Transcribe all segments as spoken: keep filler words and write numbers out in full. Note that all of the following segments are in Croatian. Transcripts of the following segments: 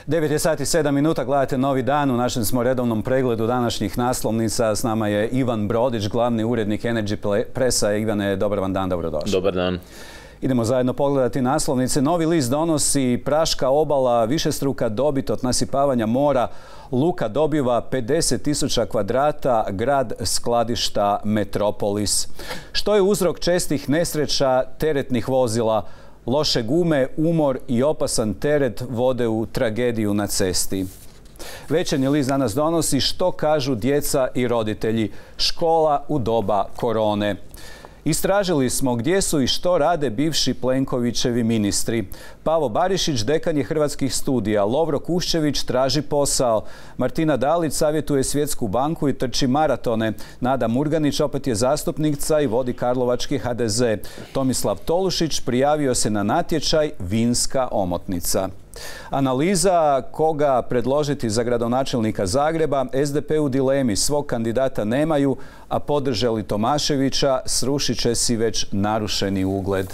devet je sati sedam minuta, gledate Novi dan, u našem smo redovnom pregledu današnjih naslovnica. S nama je Ivan Brodić, glavni urednik Energy Pressa. Ivane, dobar vam dan, dobrodošli. Dobar dan. Idemo zajedno pogledati naslovnice. Novi list donosi praška obala, višestruka dobit od nasipavanja mora. Luka dobiva pedeset tisuća kvadrata, grad skladišta Metropolis. Što je uzrok čestih nesreća teretnih vozila? Loše gume, umor i opasan teret vode u tragediju na cesti. Večernji list danas donosi što kažu djeca i roditelji. Škola u doba korone. Istražili smo gdje su i što rade bivši Plenkovićevi ministri. Pavo Barišić, dekan je Hrvatskih studija. Lovro Kuščević traži posao. Martina Dalić savjetuje Svjetsku banku i trči maratone. Nada Murganić opet je zastupnica i vodi karlovački H D Z. Tomislav Tolušić prijavio se na natječaj Vinska omotnica. Analiza koga predložiti za gradonačelnika Zagreba. S D P u dilemi, svog kandidata nemaju, a podržali Tomaševića, srušit će si već narušeni ugled.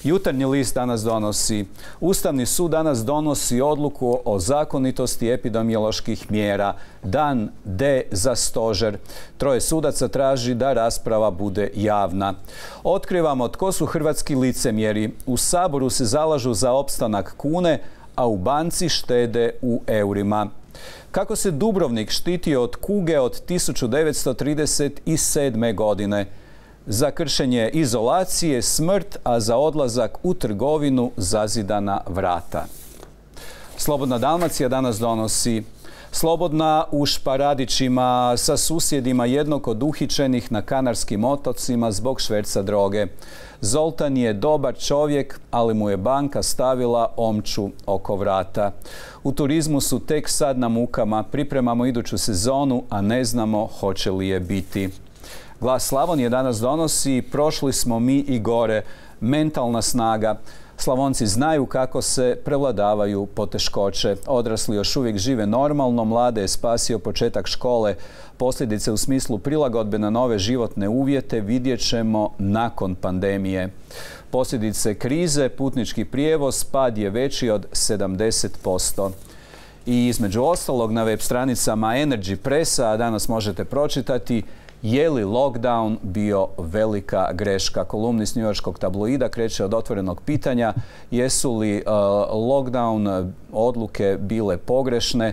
Jutarnji list danas donosi. Ustavni sud danas donosi odluku o zakonitosti epidemioloških mjera. Dan D za stožer. Troje sudaca traži da rasprava bude javna. Otkrivamo tko su hrvatski licemjeri. U Saboru se zalažu za opstanak kune, a u banci štede u eurima. Kako se Dubrovnik štitio od kuge od tisuću devetsto trideset sedme. godine? Za kršenje izolacije smrt, a za odlazak u trgovinu zazidana vrata. Slobodna Dalmacija danas donosi. Slobodna u Šparadićima, sa susjedima jednog od uhićenih na Kanarskim otocima zbog šverca droge. Zoltan je dobar čovjek, ali mu je banka stavila omču oko vrata. U turizmu su tek sad na mukama, pripremamo iduću sezonu, a ne znamo hoće li je biti. Glas Slavonije danas donosi. Prošli smo mi i gore. Mentalna snaga. Slavonci znaju kako se prevladavaju poteškoće. Odrasli još uvijek žive normalno, mlade je spasio početak škole. Posljedice u smislu prilagodbe na nove životne uvjete vidjet ćemo nakon pandemije. Posljedice krize, putnički prijevoz, pad je veći od sedamdeset posto. I između ostalog na web stranicama Energy Pressa danas možete pročitati je li lockdown bio velika greška. Kolumnist njujorškog tabloida kreće od otvorenog pitanja jesu li uh, lockdown odluke bile pogrešne,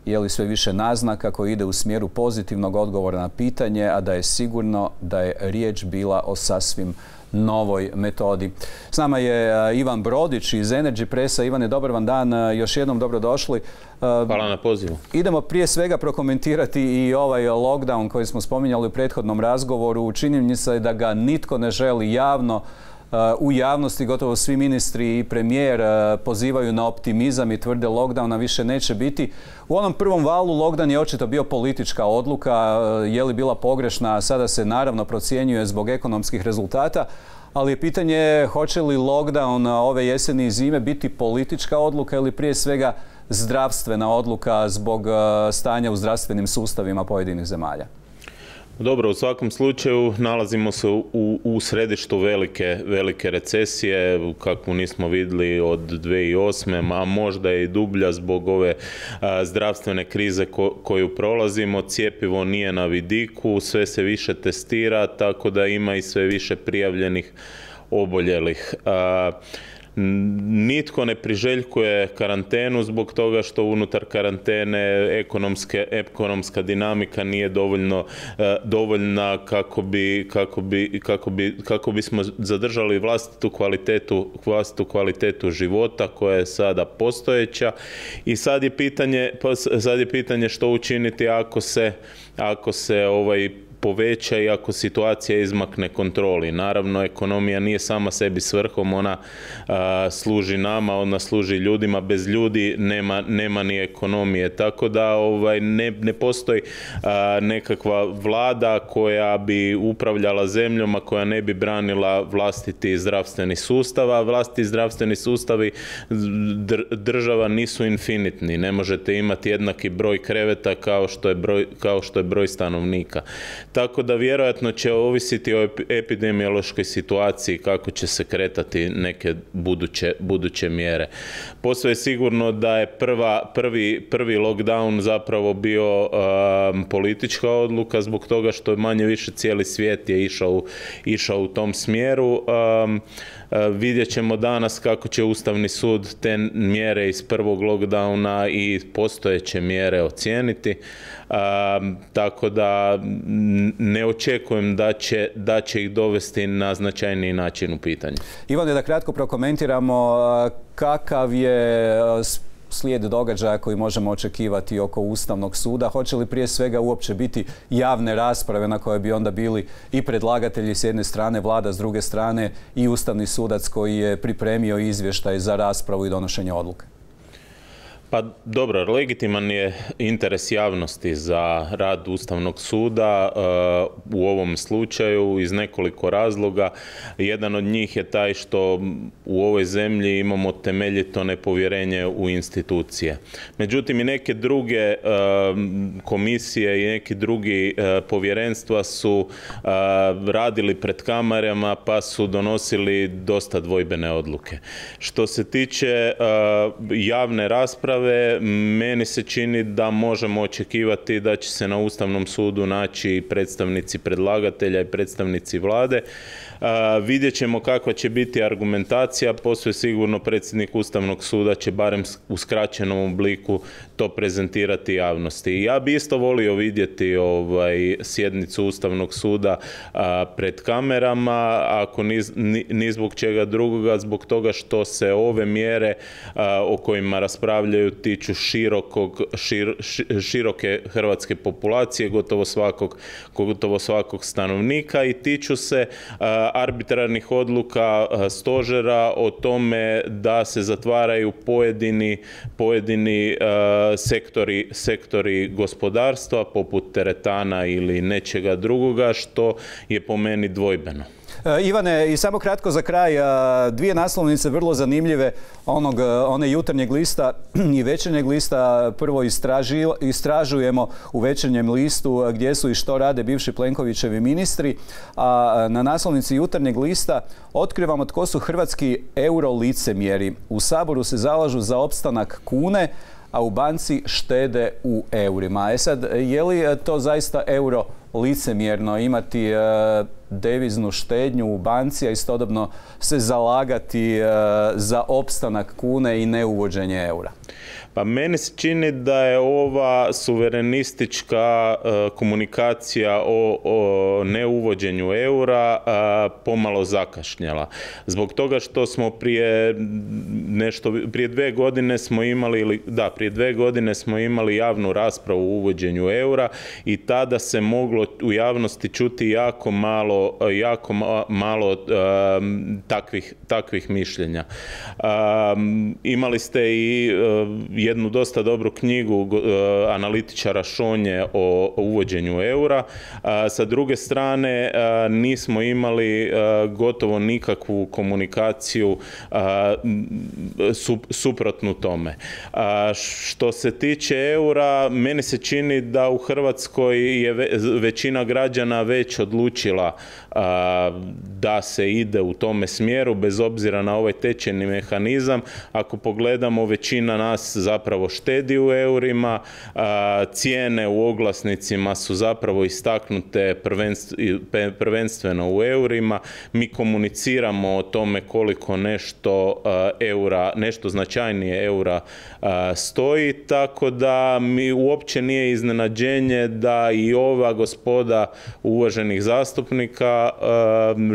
je li sve više naznaka koji ide u smjeru pozitivnog odgovora na pitanje, a da je sigurno da je riječ bila o sasvim novoj metodi. S nama je Ivan Brodić iz Energy Pressa. Ivane, dobar vam dan, još jednom dobrodošli. Hvala na pozivu. Idemo prije svega prokomentirati i ovaj lockdown koji smo spominjali u prethodnom razgovoru. Činjenica je da ga nitko ne želi javno. U javnosti gotovo svi ministri i premijer pozivaju na optimizam i tvrde lockdowna više neće biti. U onom prvom valu lockdown je očito bio politička odluka. Je li bila pogrešna? Sada se naravno procjenjuje zbog ekonomskih rezultata. Ali je pitanje hoće li lockdown ove jeseni i zime biti politička odluka ili prije svega zdravstvena odluka zbog stanja u zdravstvenim sustavima pojedinih zemalja? Dobro, u svakom slučaju nalazimo se u, u središtu velike, velike recesije, kakvu nismo vidjeli od dvije tisuće osme. a možda i dublja zbog ove a, zdravstvene krize ko, koju prolazimo. Cjepivo nije na vidiku, sve se više testira, tako da ima i sve više prijavljenih oboljelih. A, Nitko ne priželjkuje karantenu zbog toga što unutar karantene ekonomske, ekonomska dinamika nije dovoljno, dovoljna kako bi, kako bi, kako bi, kako bismo zadržali vlastitu kvalitetu, vlastitu kvalitetu života koja je sada postojeća. I sad je pitanje, sad je pitanje što učiniti ako se, ako se ovaj poveća i ako situacija izmakne kontroli. Naravno, ekonomija nije sama sebi svrhom, ona a, služi nama, ona služi ljudima. Bez ljudi nema, nema ni ekonomije. Tako da ovaj, ne, ne postoji a, nekakva vlada koja bi upravljala zemljom, a koja ne bi branila vlastiti zdravstveni sustav, a vlastiti zdravstveni sustavi država nisu infinitni. Ne možete imati jednaki broj kreveta kao što je broj, kao što je broj stanovnika. tako da vjerojatno će ovisiti o epidemiološkoj situaciji kako će se kretati neke buduće, buduće mjere. Posve je sigurno da je prva, prvi, prvi lockdown zapravo bio um, politička odluka zbog toga što je manje više cijeli svijet je išao, išao u tom smjeru. Um, Vidjet ćemo danas kako će Ustavni sud te mjere iz prvog lockdowna i postojeće mjere ocijeniti. Um, tako da ne očekujem da će, da će ih dovesti na značajniji način u pitanje. Ivane, da kratko prokomentiramo kakav je slijed događaja koji možemo očekivati oko Ustavnog suda. Hoće li prije svega uopće biti javne rasprave na koje bi onda bili i predlagatelji s jedne strane, vlada s druge strane i Ustavni sudac koji je pripremio izvještaj za raspravu i donošenje odluke? Pa dobro, legitiman je interes javnosti za rad Ustavnog suda uh, u ovom slučaju iz nekoliko razloga. Jedan od njih je taj što u ovoj zemlji imamo temeljito nepovjerenje u institucije. Međutim, i neke druge uh, komisije i neki drugi uh, povjerenstva su uh, radili pred kamerama pa su donosili dosta dvojbene odluke. Što se tiče uh, javne rasprave, meni se čini da možemo očekivati da će se na Ustavnom sudu naći predstavnici predlagatelja i predstavnici vlade. Uh, vidjet ćemo kakva će biti argumentacija, posve sigurno predsjednik Ustavnog suda će barem u skraćenom obliku to prezentirati javnosti. I ja bi isto volio vidjeti ovaj, sjednicu Ustavnog suda uh, pred kamerama, ako ni, ni, ni zbog čega drugoga, zbog toga što se ove mjere uh, o kojima raspravljaju tiču širokog, šir, široke hrvatske populacije, gotovo svakog, gotovo svakog stanovnika i tiču se uh, arbitrarnih odluka stožera o tome da se zatvaraju pojedini, pojedini uh, sektori, sektori gospodarstva poput teretana ili nečega drugoga što je po meni dvojbeno. Ivane, i samo kratko za kraj, dvije naslovnice vrlo zanimljive onog, one jutarnjeg lista i večernjeg lista. Prvo istraži, istražujemo u večernjem listu gdje su i što rade bivši Plenkovićevi ministri, a na naslovnici jutarnjeg lista otkrivamo tko su hrvatski eurolicemjeri. U Saboru se zalažu za opstanak kune, a u banci štede u eurima. E sad, je li to zaista euro licemjerno imati e, deviznu štednju u banci, a istodobno se zalagati e, za opstanak kune i neuvođenje eura? Pa meni se čini da je ova suverenistička uh, komunikacija o, o neuvođenju eura uh, pomalo zakašnjela. Zbog toga što smo prije nešto, prije dve godine smo imali, ili, da, prije dve godine smo imali javnu raspravu o uvođenju eura i tada se moglo u javnosti čuti jako malo, jako malo um, takvih, takvih mišljenja. Um, imali ste i uh, jednu dosta dobru knjigu uh, analitičara Šonje o, o uvođenju eura. Uh, sa druge strane, uh, nismo imali uh, gotovo nikakvu komunikaciju uh, sup, suprotnu tome. Uh, što se tiče eura, meni se čini da u Hrvatskoj je ve, većina građana već odlučila uh, da se ide u tome smjeru, bez obzira na ovaj tečajni mehanizam. Ako pogledamo, većina nas zapravo štedi u eurima, cijene u oglasnicima su zapravo istaknute prvenstveno u eurima. Mi komuniciramo o tome koliko nešto eura, nešto značajnije eura stoji, tako da mi uopće nije iznenađenje da i ova gospoda uvaženih zastupnika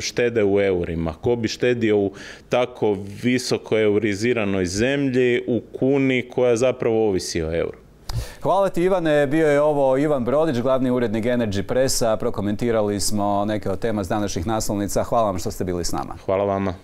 štede u eurima. Ko bi štedio u tako visoko euriziranoj zemlji u kuni koja zapravo ovisi o euru? Hvala ti, Ivane. Bio je ovo Ivan Brodić, glavni urednik Energy Pressa. Prokomentirali smo neke od tema s današnjih naslovnica. Hvala vam što ste bili s nama. Hvala vama.